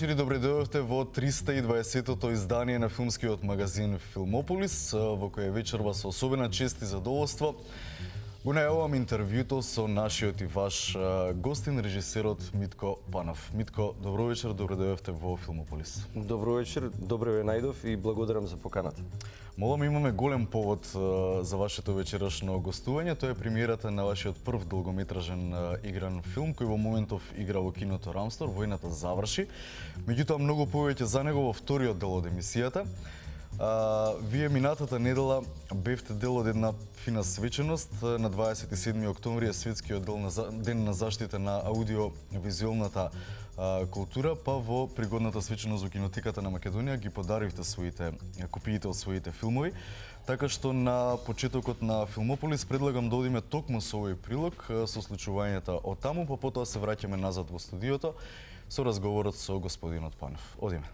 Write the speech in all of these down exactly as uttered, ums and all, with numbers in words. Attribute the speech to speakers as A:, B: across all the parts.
A: вечер и добре дојдовте во триста и дваесеттото издание на филмскиот магазин Филмополис, во кој вечерва со особена чест и задоволство го најавувам интервјуто со нашиот и ваш гостин, режисерот Митко Панов. Митко, добро вечер, добре дојдовте во Филмополис.
B: Добро вечер, добре ве најдов и благодарам за поканата.
A: Молам, имаме голем повод за вашето вечерашно гостување. Тоа е премиерата на вашиот прв долгометражен игран филм, кој во моментов игра во киното Рамстор, Војната заврши. Меѓутоа, многу повеќе за него во вториот дел од емисијата. А, вие минатата недела бевте дел од една фина свеченост. На дваесет и седми октомври е светскиот дел на, ден на заштита на аудиовизуелната култура, па во пригодната свеченост во кинотеката на Македонија ги подаривте своите копиите од своите филмови. Така што на почетокот на Филмополис предлагам да одиме токму со овој прилог со случувањата од таму, па потоа се враќаме назад во студиото со разговорот со господинот Панов. Одиме.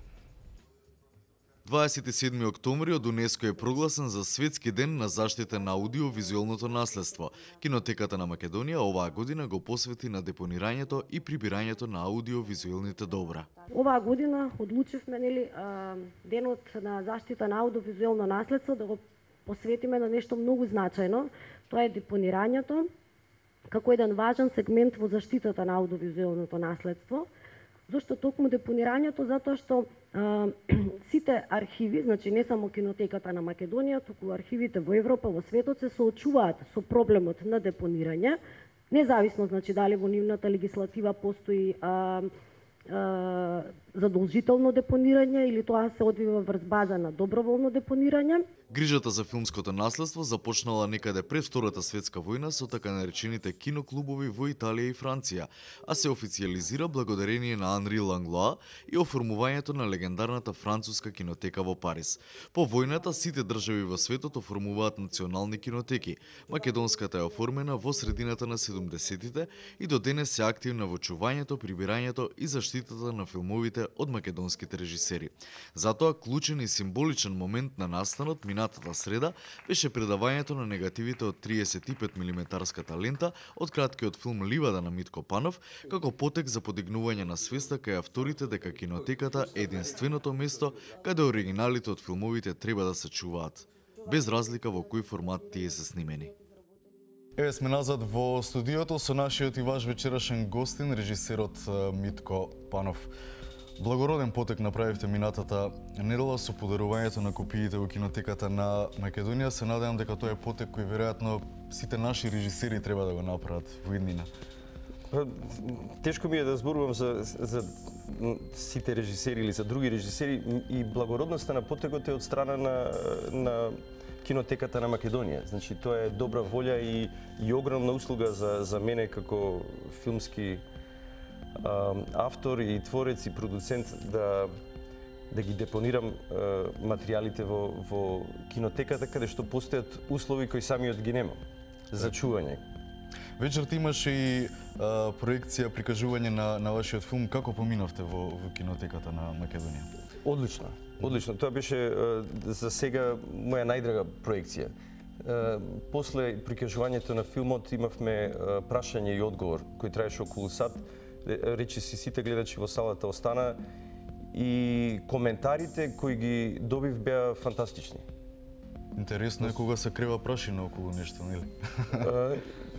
A: дваесет и седми октомври од УНЕСКО е прогласен за Светски ден на заштита на аудиовизуелното наследство. Кинотеката на Македонија оваа година го посвети на депонирањето и прибирањето на аудиовизуелните добра.
C: Оваа година одлучивме нели денот на заштита на аудиовизуелно наследство да го посветиме на нешто многу значајно. Тоа е депонирањето како еден важен сегмент во заштитата на аудиовизуелното наследство. Зошто токму депонирањето? Затоа што а, сите архиви, значи не само кинотеката на Македонија, туку архивите во Европа, во светот се соочуваат со проблемот на депонирање, независно значи дали во нивната легислатива постои а, а, задолжително депонирање или тоа се одвива врз база на доброволно депонирање.
A: Грижата за филмското наследство започнала некаде пред Втората светска војна со така наречените киноклубови во Италија и Франција, а се официализира благодарение на Анри Ланглоа и оформувањето на легендарната француска кинотека во Париз. По војната сите држави во светот оформуваат национални кинотеки. Македонската е оформена во средината на седумдесеттите и до денес се активна во чувањето, прибирањето и заштитата на филмовите од македонските режисери. Затоа клучен и символичен момент на настанот минатата среда беше предавањето на негативите од триесет и пет милиметарската лента од краткиот филм Ливада на Митко Панов, како потек за подигнување на свеста кај авторите дека кинотеката е единственото место каде оригиналите од филмовите треба да се чуваат, без разлика во кој формат тие се снимени. Еве сме назад во студиото со нашиот и ваш вечерашен гостин, режисерот Митко Панов. Благороден потек направивте минатата недела со подарувањето на копиите во кинотеката на Македонија. Се надевам дека тоа е потек кој веројатно сите наши режисери треба да го направат во иднина.
B: Тешко ми е да зборувам за, за сите режисери или за други режисери, и благородноста на потекот е од страна на, на кинотеката на Македонија. Значи тоа е добра волја и, и огромна услуга за, за мене како филмски автор и творец и продуцент да да ги депонирам материјалите во во кинотеката каде што постојат услови кои самиот ги немам за чување.
A: Вечерта имаше и а, проекција, прикажување на на вашиот филм. Како поминавте во во кинотеката на Македонија?
B: Одлично, одлично. Тоа беше за сега моја најдрага проекција. После прикажувањето на филмот имавме прашање и одговор кој траеше околу сат. Речи си сите гледачи во салата остана и коментарите кои ги добив беа фантастични.
A: Интересно е кога се крева прашина околу нешто, нели?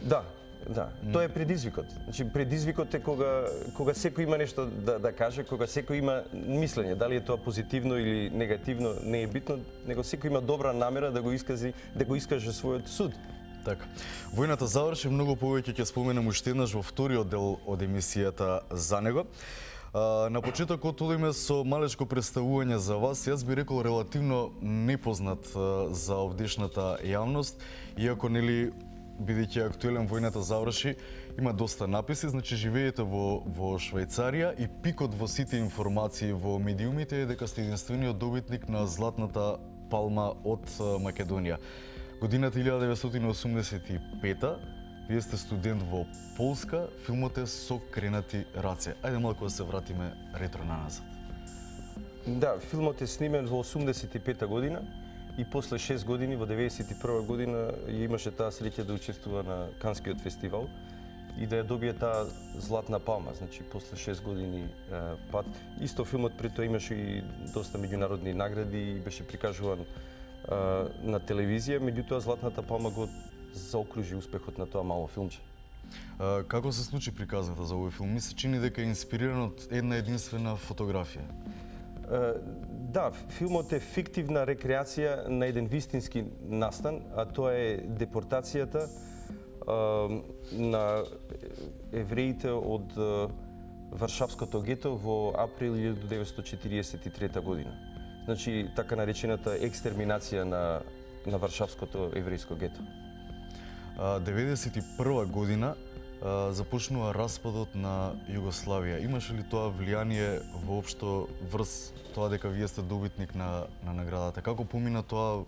B: Да, да. Тоа е предизвикот. Значи предизвикот е кога кога секој има нешто да да каже, кога секој има мислење, дали е тоа позитивно или негативно, не е битно, него секој има добра намера да го искази, да го искаже својот суд.
A: Така. Војната заврши, многу повеќе ќе споменам уште еднаш во вториот дел од емисијата за него. А, на почетокот одиме со малечко представување за вас. Јас би рекол релативно непознат а, за овдешната јавност, иако нели бидејќи актуелен Војната заврши, има доста написи, значи живеете во во Швајцарија и пикот во сите информации во медиумите е дека сте единствениот добитник на Златната палма од Македонија. Годината илјада деветстотини осумдесет и пета, вие сте студент во Полска, филмот е Со кренати раце. Ајде малку да се вратиме ретро на назад.
B: Да, филмот е снимен во осумдесет и пета година и после шест години, во деветдесет и прва година, имаше таа среќа да учествува на Канскиот фестивал и да ја добие таа златна палма, значи после шест години е, пат. Исто филмот пред тоа имаше и доста меѓународни награди и беше прикажуван е, на телевизија, меѓутоа златната палма го заокружи успехот на тоа мало филмче.
A: А, како се случи приказната за овој филм? Ми се чини дека е инспириран од една единствена фотографија.
B: Uh, да, филмот е фиктивна рекреација на еден вистински настан, а тоа е депортацијата uh, на евреите од uh, Варшавското гето во април илјадесетте деветстотчетиридесет и трета година. Значи, така наречената екстерминација на, на Варшавското еврејско гето.
A: А, деветдесет и прва година а, започнува распадот на Југославија. Имаше ли тоа влијание воопшто врз тоа дека вие сте добитник на, на наградата? Како помина тоа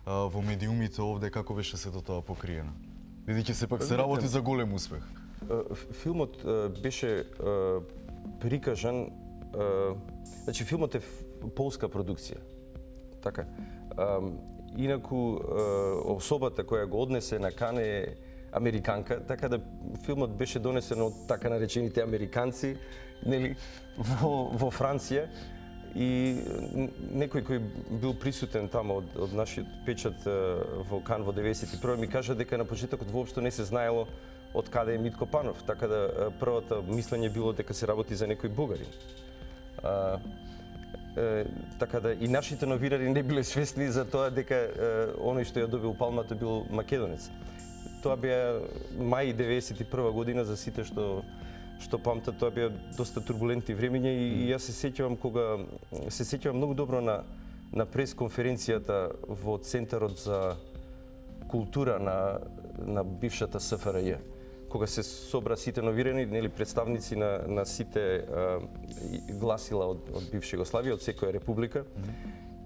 A: а, во медиумите овде, како беше сето тоа покриено? Бидејќи сепак се работи за голем успех.
B: Филмот беше прикажан, значи филмот е полска продукција. Така. Инаку особата која го однесе на Кан е американка, така да филмот беше донесен од така наречените американци, нели, во, во Франција. И некој кој бил присутен тамо од, од нашиот печат во Кан во деветдесет и прва ми кажа дека на почетокот воопшто не се знаело од каде е Митко Панов, така да првото мислење било дека се работи за некој бугарин. А, е, така да и нашите новинари не биле свесни за тоа дека е, оној што ја добил палмата бил македонец. Тоа беа мај деветдесет и прва година, за сите што што памтат, тоа беа доста турбулентни времиња и, и јас се сеќавам кога се сеќавам многу добро на на пресконференцијата во Центарот за култура на на бившата С Ф Р Ј, кога се собра сите новирани, нели, представници на на сите а, гласила од од бивша Југославија, од секоја република.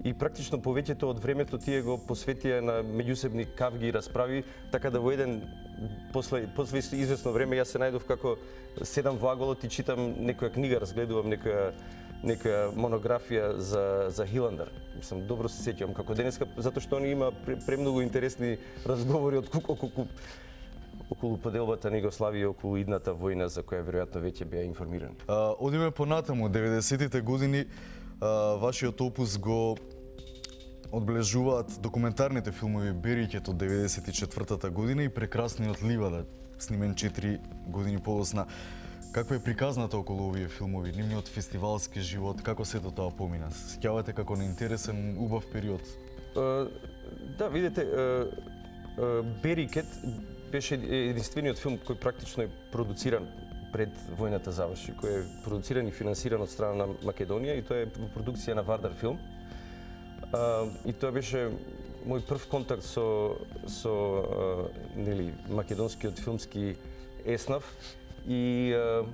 B: И практично повеќето од времето тие го посветија на меѓусебни кавги и расправи, така да во еден после после извесно време јас се најдов како седам во аголот и читам некоја книга, разгледувам некоја некоја монографија за за Хиландар. Мислам, добро се сеќавам како денеска, затоа што они има премногу интересни разговори од околу околу поделбата на Југославија, околу идната војна за која веројатно веќе беа информирани.
A: А, одиме понатаму, деветдесетите години, а, вашиот опус го одбележуваат документарните филмови Берикет од деветдесет и четвртата година и Прекрасниот ливада, снимен четири години подоцна. Каква е приказната околу овие филмови, нивниот фестивалски живот, како сето тоа помина? Се сеќавате како на интересен, убав период?
B: Uh, да, видите, uh, uh, Берикет беше единствениот филм кој практично е продуциран пред војната заврши, кој е продуциран и финансиран од страна на Македонија и тоа е во продукција на Вардар филм. Uh, и тоа беше мој прв контакт со со uh, нели македонскиот филмски еснав и uh,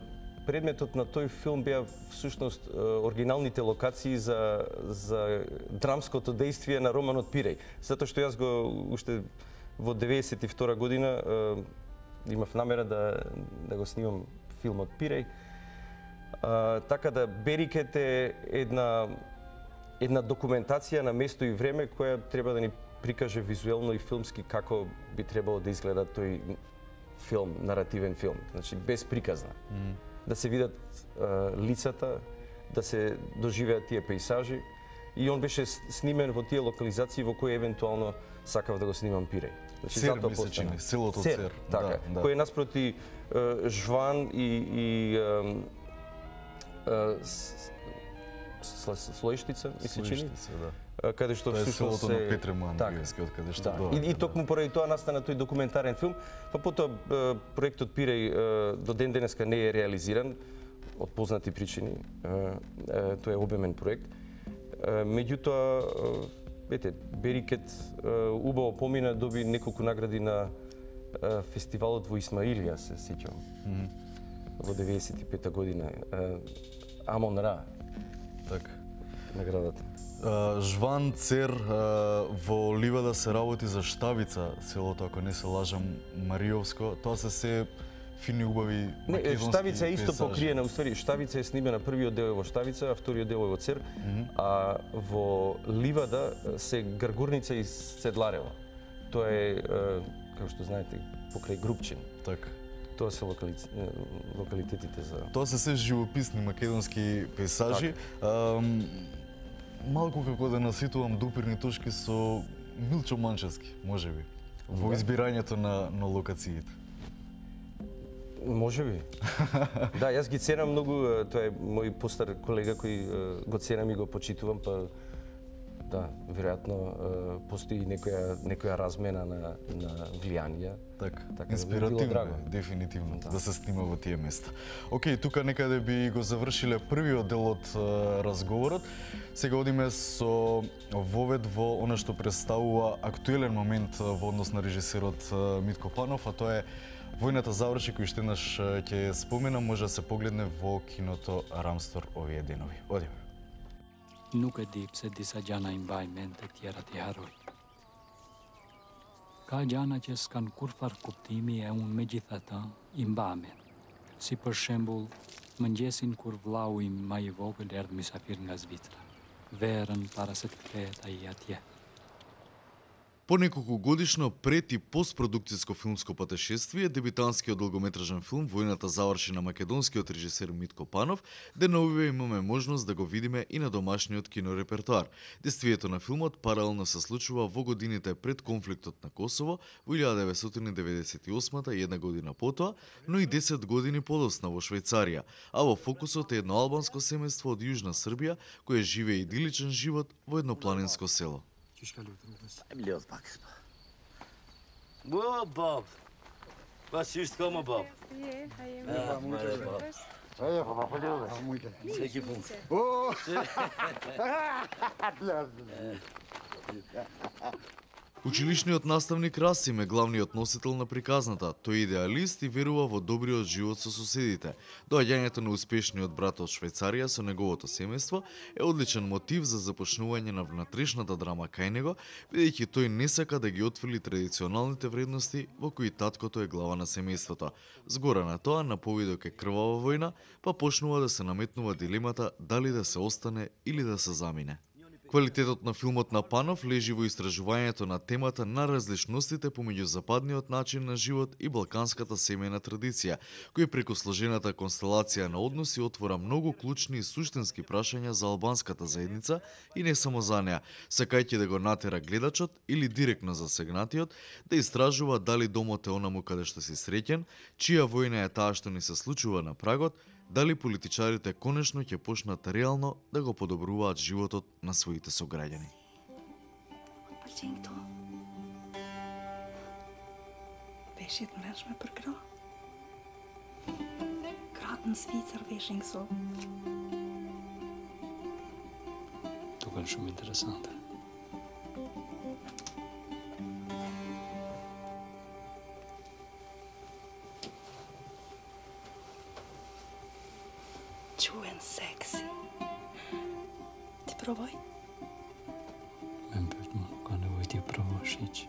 B: предметот на тој филм беа всушност uh, оригиналните локации за за драмското дејствие на романот Пиреј. Затоа што јас го уште во деветдесет и втора година uh, имав намера да да го снимам филмот Пиреј. Uh, така да Берикет е една една документација на место и време која треба да ни прикаже визуелно и филмски како би требало да изгледа тој филм, наративен филм, значи без приказна. Mm. Да се видат uh, лицата, да се доживеат тие пејсажи и он беше снимен во тие локализации во кои евентуално сакав да го снимам Пиреј. Значи,
A: Цер ми се чини, селото
B: Цер.
A: Цер.
B: Така, да, да. Кој е наспроти uh, Жван и, и uh, uh, Слоиштица, ми се чини,
A: да.
B: Каде што
A: тоа е
B: всушност
A: селото на Петре Мандревски, од каде што
B: да.
A: доаѓа.
B: И, и токму поради тоа настана тој документарен филм, па потоа проектот Пиреј до ден денеска не е реализиран од познати причини. Тоа е обемен проект. Меѓутоа, ете, Берикет убаво помина, доби неколку награди на фестивалот во Исмаилија, се сеќавам. Mm -hmm. Во деветдесет и пета година. Амон Ра.
A: Така.
B: Наградата.
A: Uh, Жван, Цер, uh, во ливада се работи за Штавица, селото, ако не се лажам, Мариовско. Тоа се се фини, убави македонски
B: Не, Штавица е исто
A: пейзажи.
B: покриена, уствари, Штавица е снимена, првиот дел е во Штавица, а вториот дел е во Цер, mm -hmm. а во ливада се Гаргурница и Седларево. Тоа е, како што знаете, покрај Грубчин.
A: Така.
B: Тоа се локали... локалитетите за...
A: Тоа се се живописни македонски пейзажи. Ам, малку како да наситувам допирни точки со Милчо Манчевски, можеби, во избирањето на, на локациите.
B: Можеби. Да, јас ги ценам многу, тоа е мој постар колега кој го ценам и го почитувам, па да, веројатно постои некоја некоја размена на на влијанија.
A: Така,
B: така
A: инспиративно
B: да
A: е, дефинитивно,
B: да.
A: да се снима во тие места. Океј, тука некаде би го завршиле првиот дел од е, разговорот. Сега одиме со вовед во она што представува актуелен момент во однос на режисерот Митко Панов, а тоа е Војната заврши, кој што еднаш ќе споменам, може да се погледне во киното Рамстор овие денови. Одиме.
D: Nuk e di pse disa gjana i mbaj mend të tjerat i harroj. Ka gjana që s'kan kurfar kuptimi e unë me gjithata i mbamen. Si për shembull, mëngjesin kur vllau im ma i vogël erdhi mysafir nga Zvicra. Verën para se të kthehet ai atje.
A: По неколку годишно пред и постпродукцијско филмско патешествие, дебитантскиот долгометражен филм Војната заврши на македонскиот режисер Митко Панов, деновиве имаме можност да го видиме и на домашниот кинорепертоар. Действието на филмот паралелно се случува во годините пред конфликтот на Косово во илјада деветстотини деветдесет и осма и една година потоа, но и десет години подосна во Швајцарија, а во фокусот е едно албанско семејство од Јужна Србија кое живее идиличен живот во едно планинско село.
E: Bliot pak. Wow, Bob. Wat is het komen, Bob? Ja, maar Bob.
F: Ja, papa, полюбиш.
E: Всеки пункт.
F: О!
A: Училишниот наставник Расим е главниот носител на приказната. Тој е идеалист и верува во добриот живот со соседите. Доаѓањето на успешниот брат од Швајцарија со неговото семејство е одличен мотив за започнување на внатрешната драма кај него, бидејќи тој не сака да ги отфрли традиционалните вредности во кои таткото е глава на семејството. Згора на тоа, на повидок е крвава војна, па почнува да се наметнува дилемата дали да се остане или да се замине. Квалитетот на филмот на Панов лежи во истражувањето на темата на различностите помеѓу западниот начин на живот и балканската семејна традиција, кој преку сложената констелација на односи отвора многу клучни и суштински прашања за албанската заедница и не само за неа, сакајќи да го натера гледачот или директно засегнатиот да истражува дали домот е онаму каде што си среќен, чија војна е таа што ни се случува на прагот, дали политичарите конечно ќе почнат реално да го подобруваат животот на своите сограѓани.
G: Pëlqen këtu. Veshjet të mreçme për gra. Gratë në Zvicër veshin këso.
D: Duken shumë interesante.
G: Quhen seksi. Ti provoj?
D: Me më pyet më, nuk ka nevojë ti provosh hiç.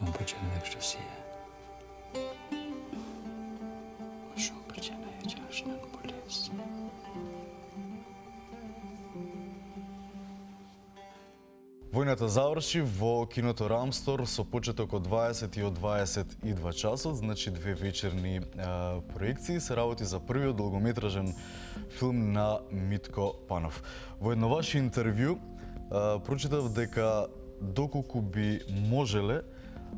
D: Më pëlqen edhe kështu si je. Më shumë pëlqen ajo që është në pules.
A: Војната заврши во киното Рамстор со почеток од дваесет и од дваесет и два часот, значи две вечерни а, проекции, се работи за првиот долгометражен филм на Митко Панов. Во едно ваше интервју а, прочитав дека доколку би можеле,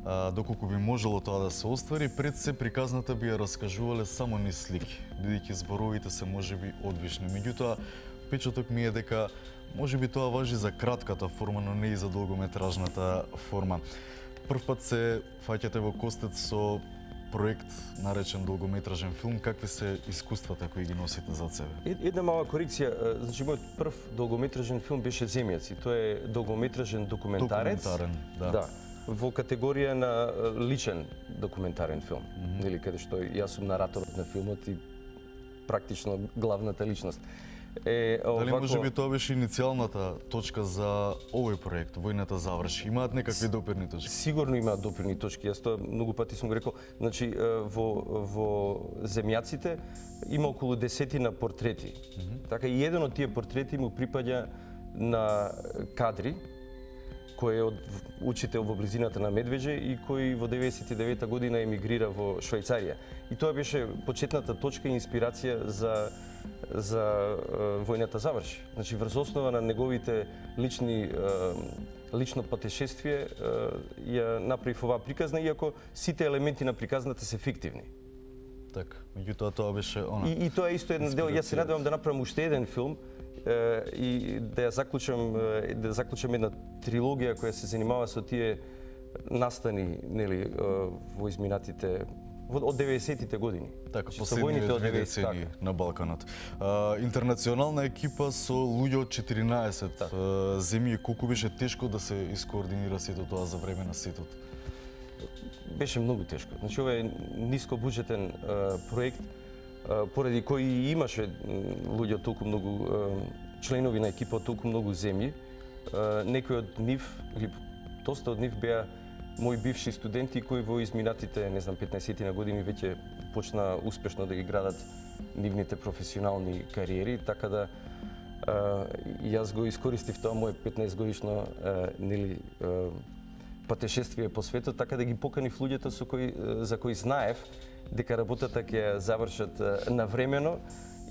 A: а, доколку би можело тоа да се оствари, пред се приказната би ја раскажувале само низ слики, бидејќи зборовите се можеби одвишни. Меѓутоа, печаток ми е дека може би тоа важи за кратката форма, но не и за долгометражната форма. Прв пат се фаќате во костец со проект наречен долгометражен филм. Какви се искуствата кои ги носите зад себе?
B: Една мала корекција, значи мојот прв долгометражен филм беше Земјаци. Тоа е долгометражен документарец.
A: Документарен, да.
B: Да. Во категорија на личен документарен филм, mm -hmm. нели, каде што јас сум нараторот на филмот и практично главната личност. Е,
A: Дали
B: овако...
A: може би тоа беше иницијалната точка за овој проект, Војната заврши? Имаат некакви допирни точки?
B: Сигурно имаат допирни точки. Јас тоа многу пати сум го рекол. Значи, во, во Земјаците има околу десетина портрети. Mm -hmm. Така и еден од тие портрети му припаѓа на кадри кој е од учител во близината на Медвеđe и кој во деветдесет и девета година емигрира во Швајцарија. И тоа беше почетната точка и инспирација за за е, војната заврши. Значи врз основа на неговите лични е, лично патешествие ја направив оваа приказна, иако сите елементи на приказната се фиктивни.
H: Така, меѓутоа тоа беше она.
B: И, и тоа е исто еден дел. Јас се надевам да направам уште еден филм е, и да ја заклучам да заклучам една трилогија која се занимава со тие настани, нели, во изминатите од деветдесетите години.
H: Така,
B: со
H: последните
B: војните од
H: две
B: деветдесет,
H: децении на Балканот. А, интернационална екипа со луѓе од четиринаесет
B: така.
H: а, земји. Колку беше тешко да се искоординира сето тоа за време на сетот?
B: Беше многу тешко. Значи ова е ниско буџетен а, проект а, поради кој имаше луѓе од толку многу а, членови на екипа од толку многу земји. А, некои од нив или доста од нив беа мои бивши студенти кои во изминатите, не знам, петнаесет на години веќе почна успешно да ги градат нивните професионални кариери, така да а, јас го искористив тоа мое петнаесет годишно а, нели а, патешествие по светот, така да ги поканив луѓето со кои за кои знаев дека работата ќе ја завршат навремено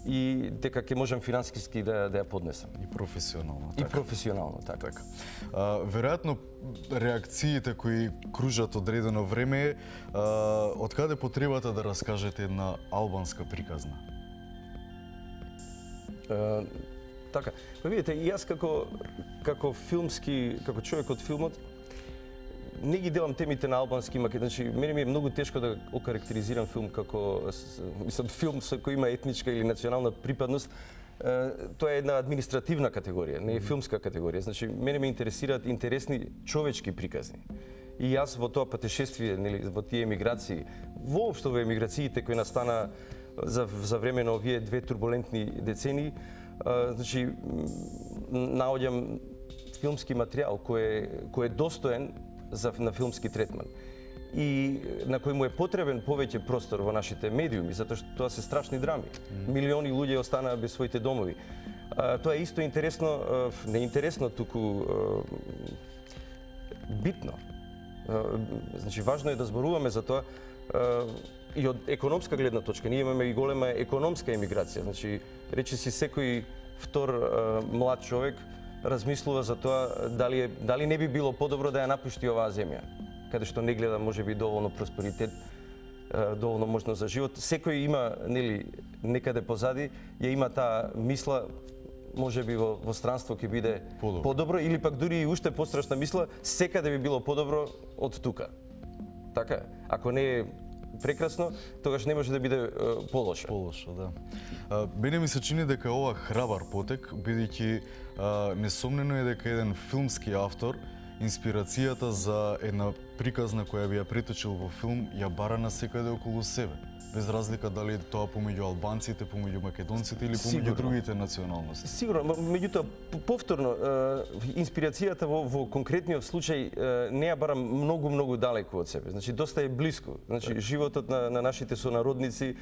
B: и дека ќе можам финансиски да, да ја поднесам.
H: И професионално.
B: И професионално, така.
H: така. А, веројатно, реакциите кои кружат одредено време, а, од каде потребата да раскажете една албанска приказна?
B: А, така. Па видите, и јас како, како филмски, како човек од филмот, не ги делам темите на албански и македонски. Значи, мене ми е многу тешко да окарактеризирам филм како мислам филм со кој има етничка или национална припадност. Тоа е една административна категорија, не е филмска категорија. Значи, мене ме интересираат интересни човечки приказни. И јас во тоа патешествие, нели, во тие емиграции, воопшто во емиграциите кои настана за за време на овие две турбулентни децении, значи наоѓам филмски материјал кој кој е достоен за на филмски третман и на кој му е потребен повеќе простор во нашите медиуми, затоа што тоа се страшни драми. Mm. Милиони луѓе останаа без своите домови. А, тоа е исто интересно, не интересно, туку битно. А, значи важно е да зборуваме за тоа а, и од економска гледна точка. Ние имаме и голема економска емиграција. Значи речиси секој втор а, млад човек размислува за тоа дали е, дали не би било подобро да ја напушти оваа земја, каде што не гледа можеби доволно просперитет, доволно можност за живот. Секој има, нели, некаде позади ја има таа мисла, можеби во, во странство ќе биде подобро. подобро или пак дури и уште пострашна мисла, секаде би било подобро од тука. Така, ако не е прекрасно, тогаш не може да биде е, полошо.
H: Полошо, да. А, мене ми се чини дека ова храбар потек, бидејќи несомнено е дека еден филмски автор инспирацијата за една приказна која би ја преточил во филм ја бара на секаде околу себе, без разлика дали тоа помеѓу албанците, помеѓу македонците или помеѓу Сигурно. другите националности.
B: Сигурно, меѓутоа повторно инспирацијата во, во конкретниот случај не ја барам многу многу далеку од себе. Значи доста е блиску. Значи животот на, на нашите сонародници,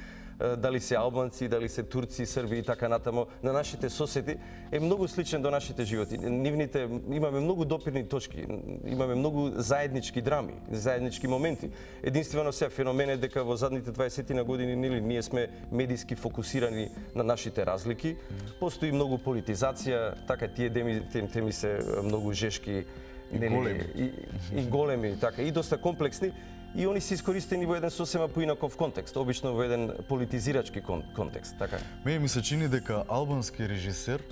B: дали се албанци, дали се турци, срби и така натамо, на нашите соседи е многу сличен до нашите животи. Нивните имаме многу допирни точки, имаме многу заеднички драми, заеднички моменти. Единствено се феномен е дека во задните дваесет на години нели ние сме медиски фокусирани на нашите разлики. Постои многу политизација, така тие теми, теми се многу жешки
H: и нели, големи.
B: И, и големи, така и доста комплексни. И они се искористени во еден сосема поинаков контекст, обично во еден политизирачки кон, контекст, така.
H: Мене ми се чини дека албански режисер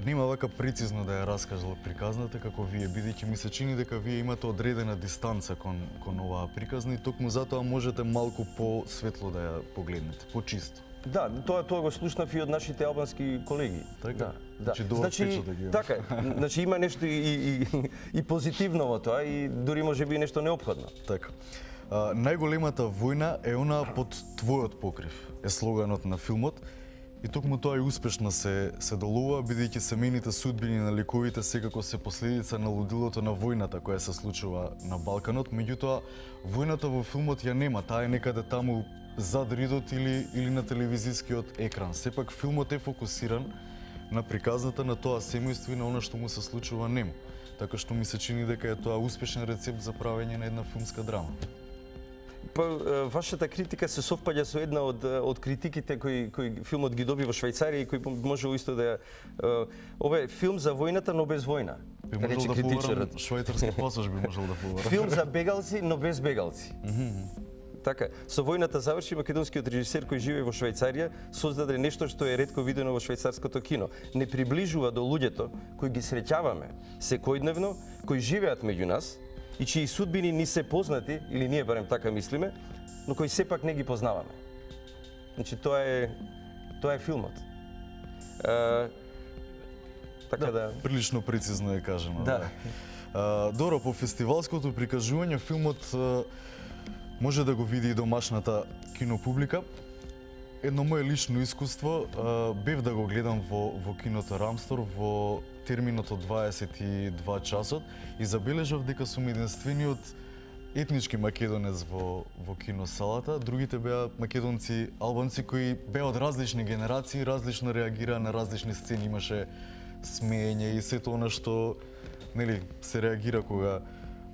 H: нема вака прецизно да ја раскажал приказната како вие, бидејќи ми се чини дека вие имате одредена дистанца кон кон оваа приказна и токму затоа можете малку посветло да ја погледнете, почисто.
B: Да, тоа тоа го слушнав и од нашите албански колеги.
H: Така?
B: Да, да.
H: Значи,
B: значи
H: да
B: така, значи има нешто и, и, и позитивно во тоа и дури можеби нешто неопходно.
H: Така. А, најголемата војна е она под твојот покрив, е слоганот на филмот. И токму тоа и успешно се се долува, бидејќи семејните судбини на ликовите секако се последица на лудилото на војната која се случува на Балканот, меѓутоа војната во филмот ја нема, таа е некаде таму зад ридот или или на телевизискиот екран. Сепак филмот е фокусиран на приказната на тоа семејство и на она што му се случува нему. така што ми се чини дека е тоа успешен рецепт за правење на една филмска драма.
B: Па, вашата критика се совпаѓа со една од од критиките кои кои филмот ги доби во Швајцарија и кои можел исто да ова е филм за војната, но без војна.
H: Би можел да поварам швајцарски пасош би можел да поварам.
B: Филм за бегалци, но без бегалци. Така, со војната заврши македонскиот режисер кој живее во Швајцарија, создаде нешто што е ретко видено во швајцарското кино. Не приближува до луѓето кои ги среќаваме секојдневно, кои живеат меѓу нас и чии судбини ни се познати, или ние барем така мислиме, но кои сепак не ги познаваме. Значи, тоа е, тоа е филмот. А, така да, да...
H: Прилично прецизно е кажано.
B: Да.
H: да. А, добро, по фестивалското прикажување, филмот а, може да го види и домашната кинопублика. Едно мое лично искуство, а, бев да го гледам во, во киното Рамстор во терминот од дваесет и два часот и забележав дека сум единствениот етнички македонец во, во киносалата. Другите беа македонци, албанци кои беа од различни генерации, различно реагираа на различни сцени, имаше смеење и сето она што нели се реагира кога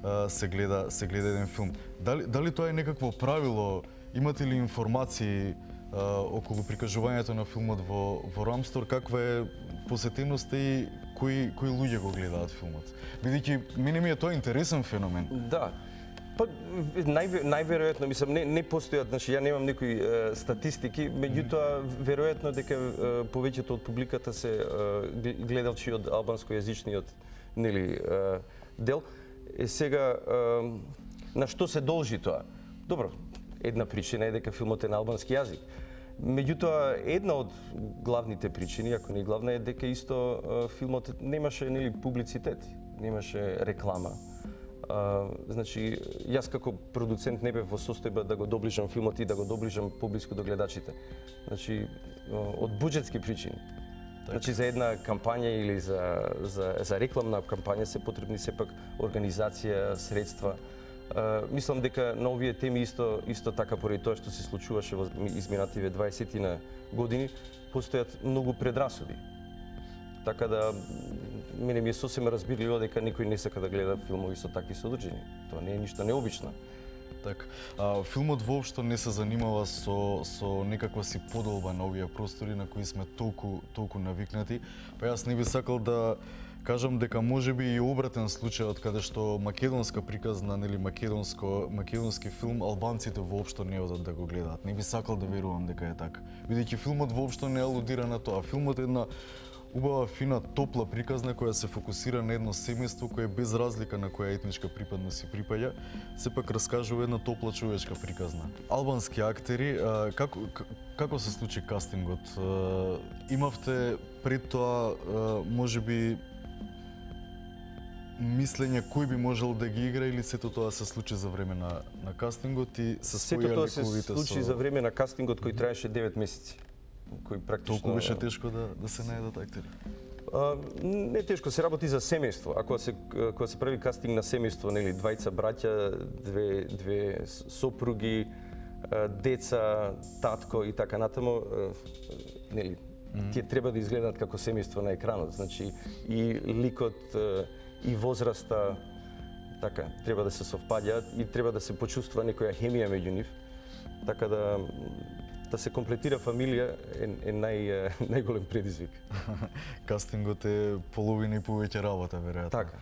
H: а, се гледа се гледа еден филм. Дали дали тоа е некакво правило? Имате ли информации а, околу прикажувањето на филмот во во Рамстор, каква е посетеноста и кои кои луѓе го гледаат филмот? Бидејќи мене ми е тоа интересен феномен.
B: Да. Па нај најверојатно мислам не не постојат, значи ја немам некои е, статистики, меѓутоа веројатно дека е, повеќето од публиката се е, гледалчи од албанскојазичниот нели е, дел. Е сега е, на што се должи тоа? Добро, една причина е дека филмот е на албански јазик. Меѓутоа, една од главните причини, ако не главна, е дека исто е, филмот немаше нели публицитет, немаше реклама. А, значи, јас како продуцент не бев во состојба да го доближам филмот и да го доближам поблиску до гледачите. Значи, од буџетски причини. Так. Значи, за една кампања или за, за, за рекламна кампања се потребни сепак организација, средства. Uh, мислам дека на овие теми исто исто така поради тоа што се случуваше во изминативе дваесетина години, постојат многу предрасуди. Така да мене ми е сосема разбирливо дека некој не сака да гледа филмови со такви содржини. Тоа не е ништо необично.
H: Так, а, филмот воопшто не се занимава со со некаква си подолба на овие простори на кои сме толку толку навикнати. Па јас не би сакал да кажам дека можеби и обратен случајот каде што македонска приказна, нели македонско македонски филм албанците воопшто не одат да го гледаат. Не би сакал да верувам дека е така. Бидејќи филмот воопшто не алудира на тоа. Филмот е една убава, фина, топла приказна која се фокусира на едно семејство кое без разлика на која етничка припадност си припаѓа, сепак раскажува една топла човечка приказна. Албански актери, а, како како се случи кастингот? А, имавте пред тоа можеби мислење кој би можел да ги игра или сето тоа се случи за време на на кастингот и се
B: сето тоа се случи со... за време на кастингот кој траеше девет месеци. Кој практично
H: толку беше тешко да да се најдат актери.
B: А, не тешко, се работи за семејство. Ако се кога се прави кастинг на семејство, нели двајца браќа, две две сопруги, деца, татко и така натаму, нели mm-hmm. тие треба да изгледаат како семејство на екранот. Значи и ликот и возраста така треба да се совпаѓаат и треба да се почувствува некоја хемија меѓу нив. Така да да се комплетира фамилија е, е нај најголем предизвик.
H: Кастингот е половина и повеќе работа веројатно.
B: Така.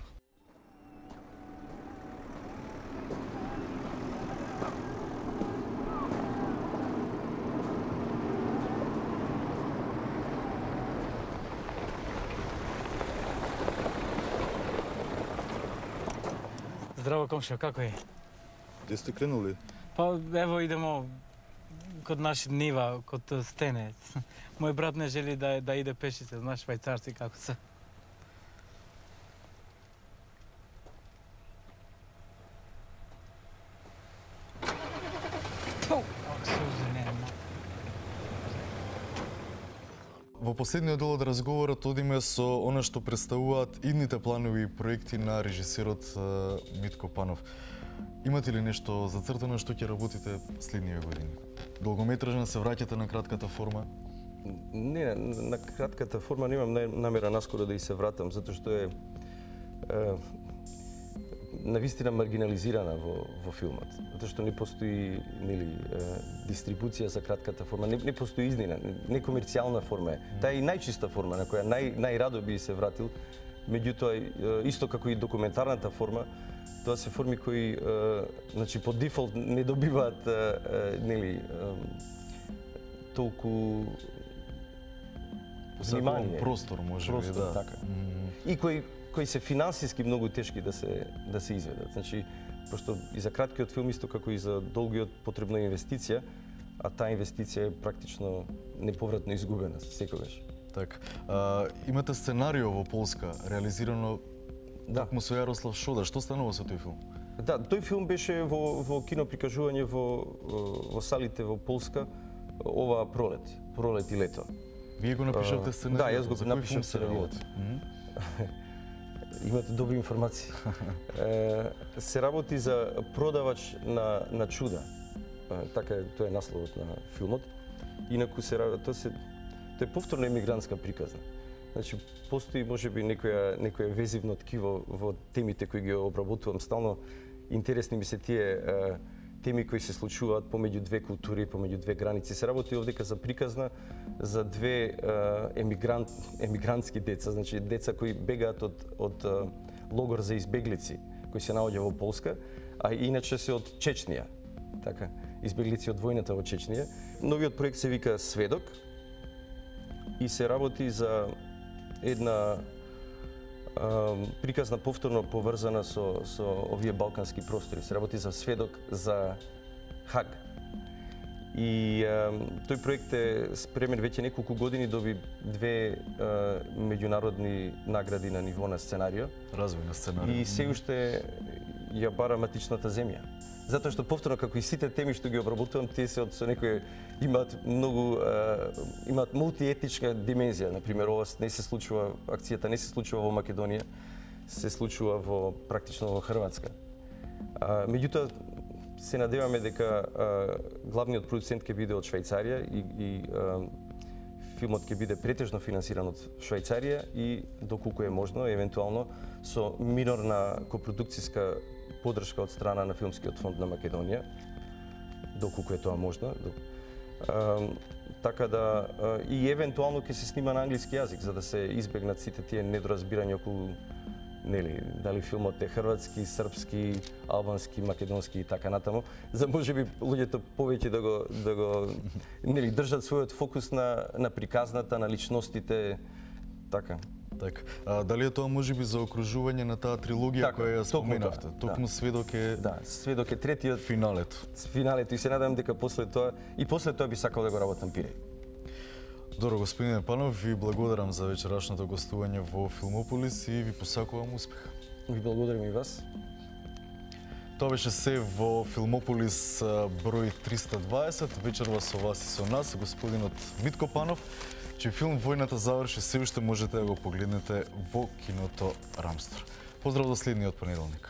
I: Здраво, комшо, како е?
J: Где сте кренули?
I: Па, ево идемо код наши нива, код стене. Мој брат не жели да, да иде пешице, знаеш швајцарци како се.
H: Во последниот дел од разговорот одиме со она што представуваат идните планови и проекти на режисерот Митко Панов. Имате ли нешто зацртано што ќе работите следниве години? Долгометражна, се враќате на кратката форма?
B: Не, на кратката форма немам намера наскоро да и се вратам, затоа што е е, навистина маргинализирана во, во филмот, затоа што не постои нели дистрибуција за кратката форма, не, не постои изнина, не комерцијална форма е. Таа е и најчиста форма на која нај најрадо би се вратил. Меѓутоа исто како и документарната форма, тоа се форми кои значи по дефолт не добиваат нели толку внимание,
H: простор може би, да.
B: Така. Mm. И кои кои се финансиски многу тешки да се да се изведат. Значи, пошто и за краткиот филм исто како и за долгиот потребна инвестиција, а таа инвестиција е практично неповратно изгубена секогаш.
H: Така. А, имате сценарио во Полска, реализирано
B: да.
H: Токму со Јарослав Шода. Што станува со тој филм?
B: Да, тој филм беше во во кино прикажување во во салите во Полска оваа пролет, пролет и лето.
H: Вие го напишавте сценарио?
B: Да, јас го напишав сценариото. Имате добри информации. Се работи за продавач на на чуда. Така е, тоа е насловот на филмот. Инаку се работи, тоа се тоа е повторна емигрантска приказна. Значи постои можеби некоја некоја везивно ткиво во темите кои ги обработувам стално. Интересни ми се тие теми кои се случуваат помеѓу две култури, помеѓу две граници. Се работи овдека за приказна за две емигрант емигрантски деца, значи деца кои бегаат од од логор за избеглици кои се наоѓа во Полска, а иначе се од Чечнија. Така, избеглици од војната во Чечнија. Новиот проект се вика Сведок и се работи за една приказна повторно поврзана со со овие балкански простори. Се работи за сведок за Хаг. И а, тој проект е спремен веќе неколку години, доби две а, меѓународни награди на ниво на сценарио.
H: Развој на сценарио.
B: И се уште ја бара матичната земја. Затоа што повторно како и сите теми што ги обработувам, тие се од со некои имаат многу а, имаат мултиетничка димензија. Например, ова не се случува, акцијата не се случува во Македонија, се случува во практично во Хрватска. А, меѓутоа се надеваме дека а, главниот продуцент ќе биде од Швајцарија и, и а, филмот ќе биде претежно финансиран од Швајцарија и доколку е можно, евентуално со минорна копродукцијска подршка од страна на Филмскиот фонд на Македонија, доколку е тоа можно. А, така да а, и евентуално ќе се снима на англиски јазик за да се избегнат сите тие недоразбирања околу нели дали филмот е хрватски, српски, албански, македонски и така натаму, за можеби луѓето повеќе да го да го нели држат својот фокус на на приказната, на личностите, така.
H: Така. А, дали е тоа можеби за окружување на таа трилогија така, која ја споменавте? Токму да. Сведок е
B: Да, Сведок е третиот
H: финалето.
B: Финалето и се надевам дека после тоа и после тоа би сакал да го работам пире.
H: Добро, господине Панов, ви благодарам за вечерашното гостување во Филмополис и ви посакувам успех.
B: Ви благодарам и вас.
H: Тоа беше се во Филмополис број триста дваесет. Вечерва со вас и со нас господинот Митко Панов, чиј филм Војната заврши се уште можете да го погледнете во киното Рамстор. Поздрав до следниот понеделник.